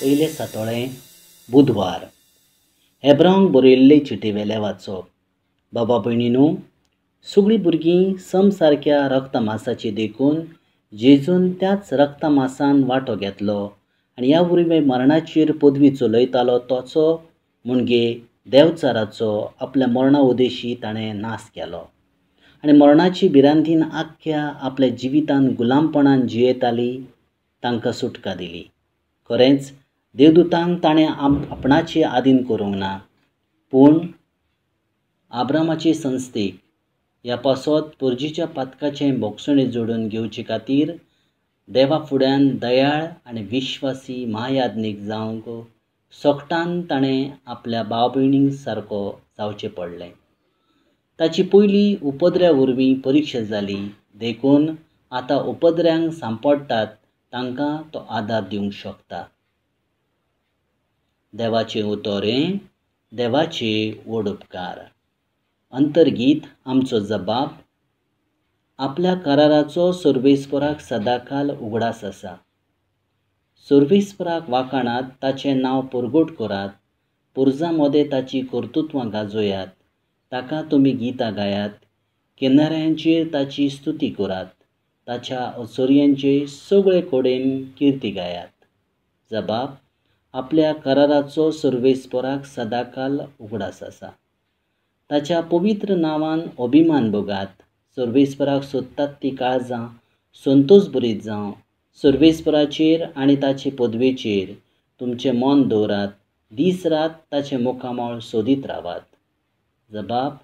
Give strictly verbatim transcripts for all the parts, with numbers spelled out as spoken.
पयले सातोळें बुधवार. हेब्रांक बरयल्ले चिटी वेले वाचप. बाबा भयणीनू, सगळीं भुरगीं सम सारक्या रक्तमासाची देखून जेजून त्याच रक्तमासान वांटो घेतलो आनी ह्या वरवीं मरणाचेर पदवी चलयतालो तोचो म्हणजे देवचाराचो आपल्या मरणा उदेशी ताणें नाश केलो आनी मरणाची भिरांतीन आख्ख्या आपल्या जिवितान गुलामपणान जियेताली तांकां सुटका दिली. खरेंच देवदूतांक ताणें आपणाचे आदीन करूंक ना, पूण आब्रामाचे संस्थेक ह्या पासत पोरजीच्या पातकाचें भोगसणें जोडून घेवचे खातीर देवा फुड्यान दयाळ आनी विश्वासी महायाज्ञीक जावंक सोकटान ताणें आपल्या भाव भयणीं सारको जावचें पडलें. ताची पयली उपद्र्या वरवीं परिक्षा जाली देखून आतां उपद्र्यांक सांपडटात तांकां तो आदार दिवंक शकता. देवाचें उतर हें देवाचे व्हड उपकार. अंतर्गीत आमचो जबाब. आपल्या कराराचो सर्वेस्पराक सदांकाल उगडास आसा. सर्वेस्पराक वाखाणात, ताचें नांव परगट करात, पुरजां मदें ताची कर्तुत्वां गाजोयात, ताका तुमी गितां गायात, किनाऱ्यांचेर ताची स्तुती करात, ताच्या अचर्यांचे सगळे कडेन किर्ती गायात. जबाब. आपल्या कराराचो सर्वेस्पराक सदांकाल उगडास आसा. ताच्या पवित्र नांवान अभिमान भोगात. सर्वेस्पराक सोदतात ती काळजां संतोश भरीत जावं. सर्वेस्पराचेर आनी ताचे पदवेचेर तुमचें मन दवरात, दीस रात ताचें मुखामळ सोदीत रावात. जबाब.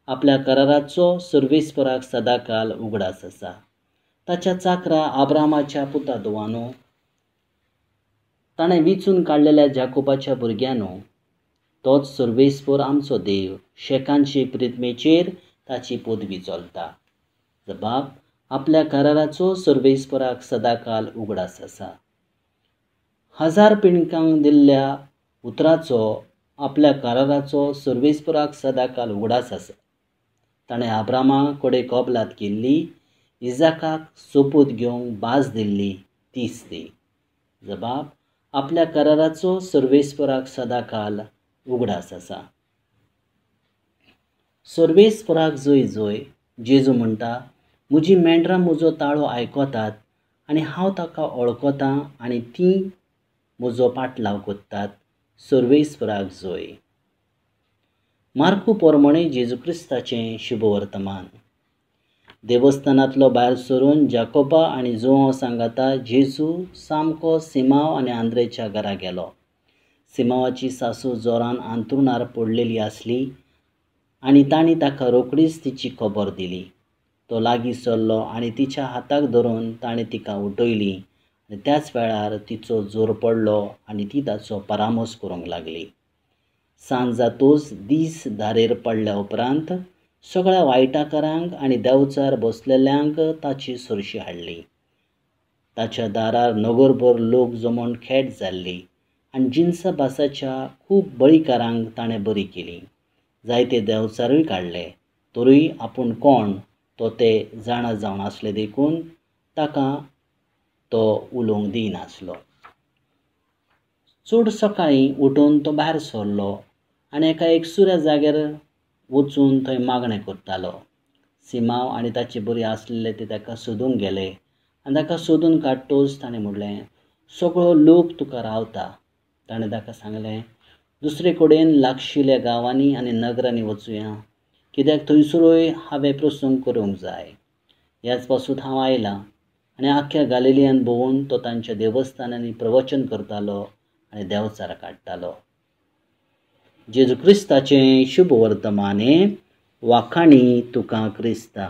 आपल्या कराराचो सर्वेस्पराक सदांकाल उगडास आसा. ताच्या चाकरा आब्रामाच्या पुता धुवानो, ताणें विचून काडलेल्या जाकोबाच्या भुरग्यांनो, तोच सर्वेस्पर आमचो देव, शेकांचे प्रितमेचेर ताची पदवी चलता. जबाब. आपल्या कराराचो सर्वेस्पराक सदांकाल उगडास आसा. हजार पिणकांक दिल्ल्या उतराचो आपल्या कराराचो सर्वेस्पराक सदांकाल उगडास आसा. ताणें आब्रामा कडेन कबलात केल्ली, इजाकाक सोपूत घेवंक भास दिल्ली तीच ती. जबाब. आपल्या कराराचो सर्वेस्पराक सदांकाल उगडास आसा. सर्वेस्पराक जय जय. जेजू म्हणटा, म्हजी मेंढरां म्हजो ताळो आयकतात आनी हांव ताका वळखतां आनी तीं म्हजो पाटलाव करतात. सर्वेस्पराक जय. मार्कू पोरमणे जेजू क्रिस्ताचें शुभवर्तमान. देवस्थानांतलो भायर सरून जाकोबा आनी जुआंव सांगाता जेजू सामको सिमांव आनी आंद्रेच्या घरा गेलो. सिमांवाची सासू जोरान आंतरुणार पडलेली आसली आनी तांणी ताका रोखडीच तिची खबर दिली. तो लागीं सरलो आनी तिच्या हाताक धरून ताणें तिका उठयली आनी त्याच वेळार तिचो जोर पडलो आनी ती ताचो परामर्श करूंक लागली. सांज जातूच दीस धारेर पडल्या उपरांत सगळ्या वायटाकारांक आनी देवचार बसलेल्यांक ताची सरशी हाडली. ताच्या दारार नगरभर लोक जमोवन खेट जाल्ली आनी जिनसा भासाच्या खूब बळीकारांक ताणें बरी केली. जायते देवचारूय काडले, तरूय आपूण कोण तो ते जाणा जावन आसले देखून ताका तो उलोवंक दिनासलो. चड सकाळीं उठून तो भायर सरलो आनी एका एकसुऱ्या जाग्यार वचून थंय मागणें करतालो. सिमांव आनी ताचे बरी आसलेले ते ताका सोदूंक गेले आनी ताका सोदून काडटूच ताणें म्हणलें, सगळो लोक तुका रावता. ताणें ताका सांगलें, दुसरे कडेन लागशिल्ल्या गांवांनी आनी नगरांनी वचुया, कित्याक थंयसरूय हांवें प्रसंग करूंक जाय. ह्याच पासून हांव आयलां. आनी आख्ख्या गालिलियान भोंवून तो तांच्या देवस्थानांनी प्रवचन करतालो आनी देवचार काडटालो. जेजू क्रिस्ताचें शुभ वर्तमाने. वाखाणी तुका क्रिस्ता.